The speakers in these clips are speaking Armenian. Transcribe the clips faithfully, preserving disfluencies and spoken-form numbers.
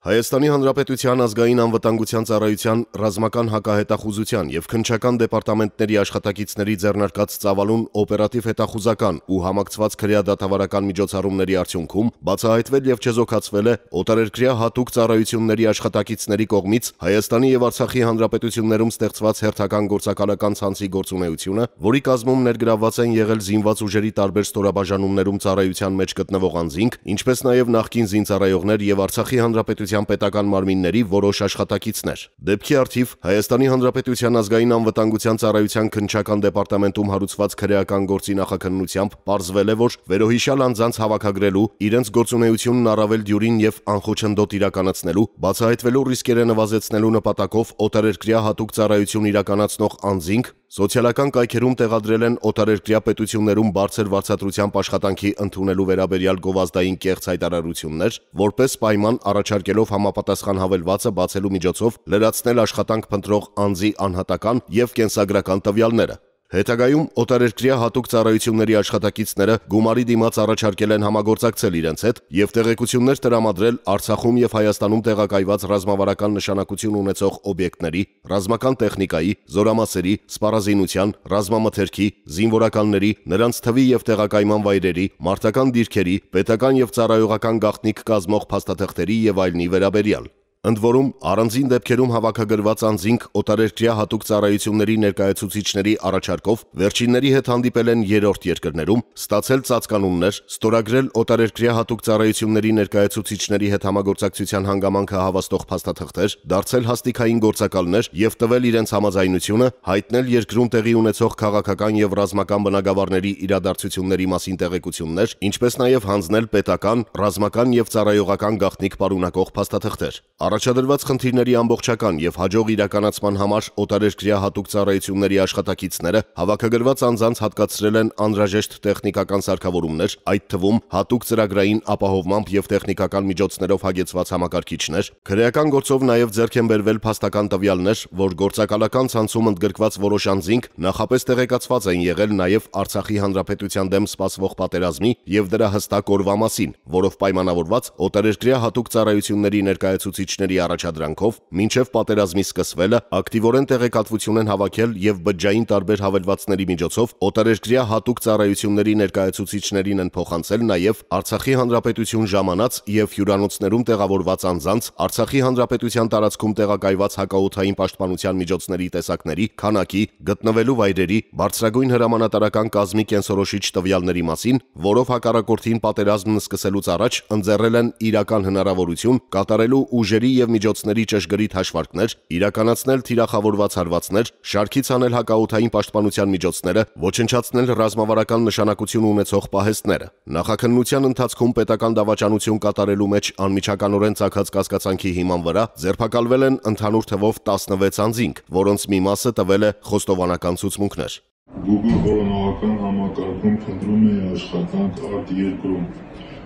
Հայաստանի Հանրապետության ազգային անվտանգության ծառայության ռազմական հակահետախուզության և քննչական դեպարտամենտների աշխատակիցների ձեռնարկած ծավալուն օպերատիվ հետախուզական ու համակցված քրեադատավարական միջոցառումների արդյունքում բացահայտվել և չեզոքացվել է օտարերկրյա հատուկ ծառայությունների աշխատակիցների կողմից Հայաստանի և Արցախի Հանրապետություններում ստեղծված հերթական գործակալական ցանցի գործունեությունը, որի կազմում ներգրավված են եղել զինված ուժերի տարբեր ստորաբաժանումներում ծառայության մեջ գտնվող անձինք, ինչպես նաև նախկին զինծառայողներ և Արցախի Հանրապետության պետական մարմինների որոշ աշխատակիցներ։ Դեպքի առթիվ Հայաստանի Հանրապետության ազգային անվտանգության ծառայության քննչական դեպարտամենտում հարուցված քրեական գործի նախաքննությամբ պարզվել է, որ վերոհիշյալ անձանց հավաքագրելու, իրենց գործունեությունն առավել դյուրին և անխոչնդոտ իրականացնելու, բացահայտվելու ռիսկերը նվազեցնելու նպատակով օտարերկրյա հատուկ ծառայություն իրականացնող անձինք սոցիալական կայքերում տեղադրել են օտարերկրյա պետություններում բարձր վարձատրությամբ աշխատանքի ընդունելու վերաբերյալ գովազդային կեղծ հայտարարություններ, որպես պայման առաջարկելով համապատասխան հավելվածը բացելու միջոցով լրացնել աշխատանք փնտրող անձի անհատական և կենսագրական տվյալները։ Հետագայում օտարերկրյա հատուկ ծառայությունների աշխատակիցները գումարի դիմաց առաջարկել են համագործակցել իրենց հետ և տեղեկություններ տրամադրել Արցախում և Հայաստանում տեղակայված ռազմավարական նշանակություն ունեցող օբյեկտների, ռազմական տեխնիկայի, զորամասերի, սպառազինության, ռազմամթերքի, զինվորականների, նրանց թվի և տեղակայման վայրերի, մարտական դիրքերի, պետական և ծառայողական գաղտնիք կազմող փաստաթղթերի և այլնի վերաբերյալ։ Ընդ որում, առանձին դեպքերում հավաքագրված անձինք օտարերկրյա հատուկ ծառայությունների ներկայացուցիչների առաջարկով վերջինների հետ հանդիպել են երրորդ երկրներում, ստացել ծածկանուններ, ստորագրել օտարերկրյա հատուկ ծառայությունների ներկայացուցիչների հետ համագործակցության հանգամանքը հավաստող փաստաթղթեր, դարձել հաստիքային գործակալներ և տվել իրենց համաձայնությունը, հայտնել երկրում տեղի ունեցող քաղաքական և ռազմական բնագավառների իրադարձությունների մասին տեղեկություններ, ինչպես նաև հանձնել պետական, ռազմական և ծառայողական գաղտնիք պարունակող փաստաթղթեր։ Առաջադրված խնդիրների ամբողջական և հաջող իրականացման համար օտարերկրյա հատուկ ծառայությունների աշխատակիցները հավաքագրված անձանց հատկացրել են անհրաժեշտ տեխնիկական սարքավորումներ, այդ թվում հատուկ ծրագրային ապահովմամբ և տեխնիկական միջոցներով հագեցված համակարգիչներ, քրեական գործով նաև ձեռք են բերվել փաստական տվյալներ, որ գործակալական ցանցում ընդգրկված որոշ անձինք նախապես տեղեկացված են եղել նաև Արցախի Հանրապետության դեմ սպասվող պատերազմի և դրա հստակ օրվա մասին, որով պայմանավորված օտարերկրյա հատուկ ծառայությունների ներկայացուցիչների առաջադրանքով մինչև պատերազմի սկսվելը ակտիվորեն տեղեկատվություն են հավաքել և բջջային տարբեր հավելվածների միջոցով օտարերկրյա հատուկ ծառայությունների ներկայացուցիչներին են փոխանցել նաև Արցախի Հանրապետություն ժամանած և հյուրանոցներում տեղավորված անձանց, Արցախի Հանրապետության տարածքում տեղակայված հակաօդային պաշտպանության միջոցների տեսակների, քանակի, գտնվելու վայրերի, բարձրագույն հրամանատարական կազմի կենսորոշիչ տվյալների մասին, որով հակառակորդին պատերազմն սկսելուց առաջ ընձեռել են իրական հնարավորություն կատարելու ուժերի և միջոցների ճշգրիտ հաշվարկներ, իրականացնել թիրախավորված հարվածներ, շարքից հանել հակաօդային պաշտպանության միջոցները, ոչնչացնել ռազմավարական նշանակություն ունեցող պահեստները։ Նախաքննության ընթացքում պետական դավաճանություն կատարելու մեջ անմիջականորեն ծագած կասկածանքի հիման վրա ձերբակալվել են ընդհանուր թվով տասնվեց անձինք, որոնց մի մասը տվել է խոստովանական ցուցմունքներ։ Google որոնողական համակարգում փնտրում էի աշխատանք արտերկրում։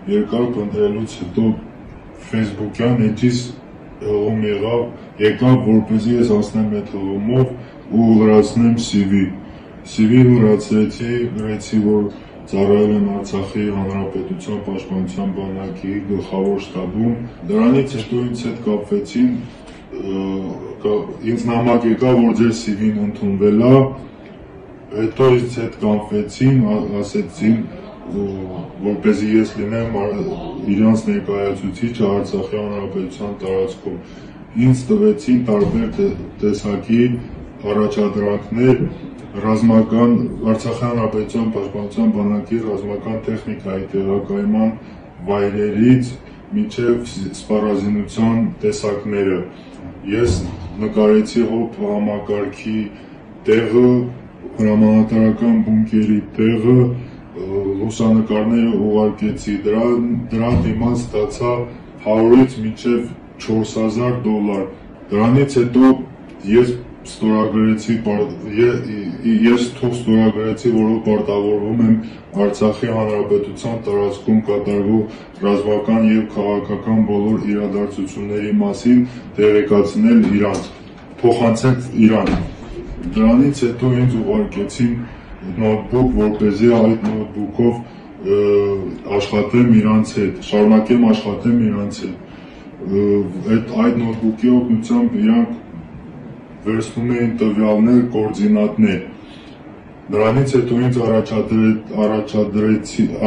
Երկար փնտրելուց հետո Facebook-յան էջից հղում եղավ, եկավ, որպեսզի ես հասնեմ այդ հղումով ու լրացնեմ C V։ C V լրացրեցի, գրեցի, որ ծառայել եմ Արցախի Հանրապետության պաշտպանության բանակի գլխավոր շտաբում։ Դրանից հետո ինձ հետ կապվեցին, ինձ նամակ եկավ, որ ձեր C V-ն ընդունվել է, հետո ինձ հետ կապվեցին, ասեցին, որպեսզի ես լինեմ իրանց ներկայացուցիչը Արցախի Հանրապետության տարածքում։ Ինձ տվեցին տարբեր տեսակի առաջադրանքներ ռազմական Արցախի Հանրապետության պաշտպանության բանակի ռազմական տեխնիկայի տեղակայման վայրերից մինչև սպառազինության տեսակները։ Ես նկարեցի հոբ համակարգի տեղը, հրամանատարական բունկերի տեղը, լուսանկարները ուղարկեցի, դրա դիմաց ստացա հարյուրից մինչև չորս հազար դոլար։ Դրանից հետո ես ստորագրեցի, ես թող ստորագրեցի, որով պարտավորվում եմ Արցախի Հանրապետության տարածքում կատարվող ռազմական և քաղաքական բոլոր իրադարձությունների մասին տեղեկացնել իրանց, փոխանցել իրան։ Դրանից հետո ինձ ուղարկեցին նոթբուք, որպեսզի այդ նոթբուքով աշխատեմ իրանց հետ, շարունակեմ աշխատեմ իրանց հետ։ այդ այդ նոթբուքի օգնությամբ իրանք վերցնում էին տվյալներ, կոորդինատներ։ Նրանից հետո ինձ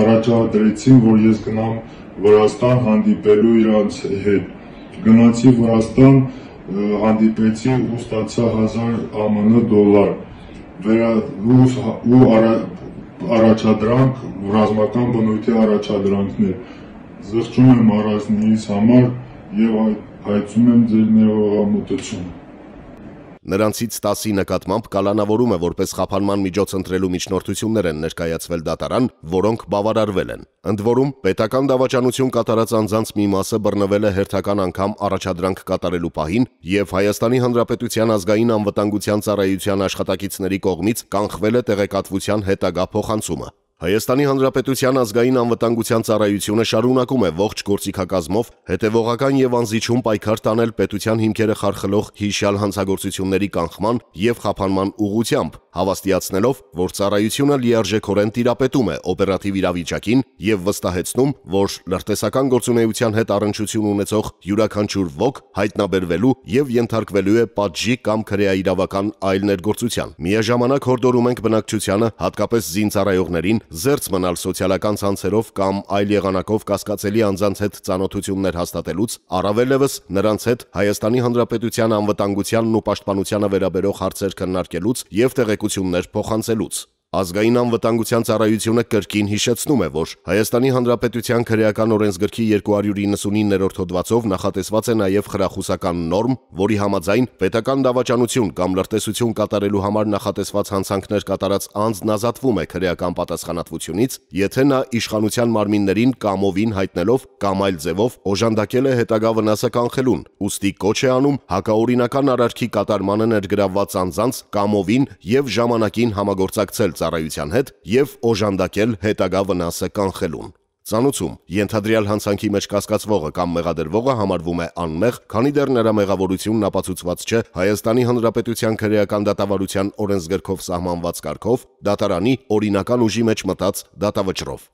առաջադրեցին, որ ես գնամ Վրաստան հանդիպելու իրանց հետ։ Գնացի Վրաստան, հանդիպեցի ու ստացա հազար ԱՄՆ դոլար ու առաջադրանք, ռազմական բնույթի առաջադրանքներ։ Զղջում եմ առանձնիս համար և հայցում եմ ձեր ներողամտությունը։ Նրանցից տասի նկատմամբ կալանավորում է որպես խափանման միջոց ընտրելու միջնորդություններ են ներկայացվել դատարան, որոնք բավարարվել են։ Ընդ որում, պետական դավաճանություն կատարած անձանց մի մասը բռնվել է հերթական անգամ առաջադրանք կատարելու պահին և Հայաստանի Հանրապետության ազգային անվտանգության ծառայության աշխատակիցների կողմից կանխվել է տեղեկատվության հետագա փոխանցումը։ Հայաստանի Հանրապետության ազգային անվտանգության ծառայությունը շարունակում է ողջ գործիքակազմով հետևողական և անզիջում պայքար տանել պետության հիմքերը խարխլող հիշյալ հանցագործությունների կանխման և խափանման ուղղությամբ, հավաստիացնելով, որ ծառայությունը լիարժեքորեն տիրապետում է օպերատիվ իրավիճակին և վստահեցնում, որ լրտեսական գործունեության հետ առնչություն ունեցող յուրաքանչյուր ոք հայտնաբերվելու և ենթարկվելու է պատժի կամ քրեաիրավական այլ ներգործության։ Միաժամանակ հորդորում ենք բնակչությանը, հատկապես զինծառայողներին, զերծ մնալ սոցիալական ցանցերով կամ այլ եղանակով կասկածելի անձանց հետ ծանոթություններ հաստատելուց, առավելևս նրանց հետ Հայաստանի Հանրապետության անվտանգությանն ու պաշտպանությանը վերաբերող հարցեր քննարկելուց և տեղեկություններ փոխանցելուց։ Ազգային անվտանգության ծառայությունը կրկին հիշեցնում է, որ Հայաստանի Հանրապետության քրեական օրենսգրքի երկու հարյուր իննսունիններորդ հոդվածով նախատեսված է նաև խրախուսական նորմ, որի համաձայն պետական դավաճանություն կամ լրտեսություն կատարելու համար նախատեսված հանցանքներ կատարած անձն ազատվում է քրեական պատասխանատվությունից, եթե նա իշխանության մարմիններին կամովին հայտնելով կամ այլ ձևով օժանդակել է հետագա վնասը կանխելուն, ուստի կոչ է անում հակաօրինական արարքի կատարմանը ներգրավված անձանց կամովին և ժամանակին համագործակցել ծառայության հետ և օժանդակել հետագա վնասը կանխելուն։ Ծանուցում ենթադրյալ հանցանքի մեջ կասկածվողը կամ մեղադրվողը համարվում է անմեղ, քանի դեռ նրա մեղավորությունն ապացուցված չէ Հայաստանի Հանրապետության քրեական դատավարության օրենսգրքով սահմանված կարգով, դատարանի օրինական ուժի մեջ մտած դատավճռով։